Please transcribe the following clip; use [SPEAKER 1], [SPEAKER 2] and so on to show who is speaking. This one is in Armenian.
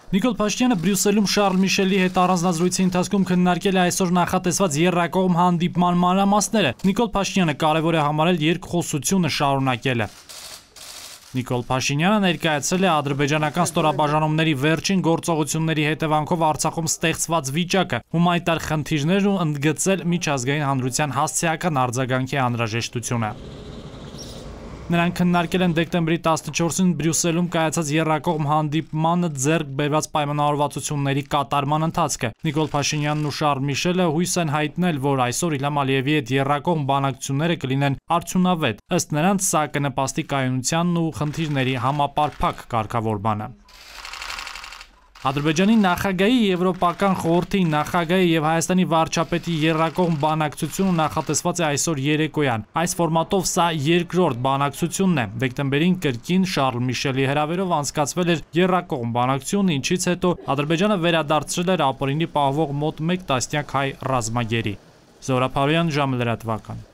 [SPEAKER 1] Նիկոլ Փաշինյանը Բրյուսելում Շարլ Միշելի հետ առանձնազրույցի ընթացքում քննարկել է այսօր նախատեսված եռակողմ հանդիպման մանրամասները։ Նիկոլ Փաշինյանը կարևոր է համարել երկխոսությունը շարունակելը։ Նիկոլ Փաշինյանը ներկայացրել է ադրբեջանական ստորաբաժանումների վերջին գործողությունների հետևանքով Արցախում ստեղծված վիճակը, հումանիտար խնդիրներն ու ընդգծել միջազգային հանրության հասցեական արձագանքի անհրաժեշտությունը։ Նրանք քննարկել են դեկտեմբերի 14-ին Բրյուսելում կայացած եռակողմ հանդիպմանը ձեռք բերված պայմանավորվածությունների կատարման ընթացքը։ Նիկոլ Փաշինյանն ու Շարլ Միշելը հույս են հայտնել, որ այսօր Իլհամ Ալիևի հետ եռակողմ բանակցությունները կլինեն արդյունավետ։ Ըստ նրանց, սա կնպաստի կայունությանն ու խնդիրների համապարփակ կարգավորմանը։ Ադրբեջանի նախագահի, Եվրոպական խորհրդի նախագահի եւ Հայաստանի վարչապետի եռակողմ բանակցությունը նախատեսված է այսօր երեկոյան։ Այս ֆորմատով սա երկրորդ բանակցությունն է։ Դեկտեմբերին կրկին Շարլ Միշելի հրավերով անցկացվել էր եռակողմ բանակցություն, ինչից հետո Ադրբեջանը վերադարձրել էր ապօրինի պահվող մոտ 1 տասնյակ հայ ռազմագերի։ Զորապարոյան ժամը լրատվական։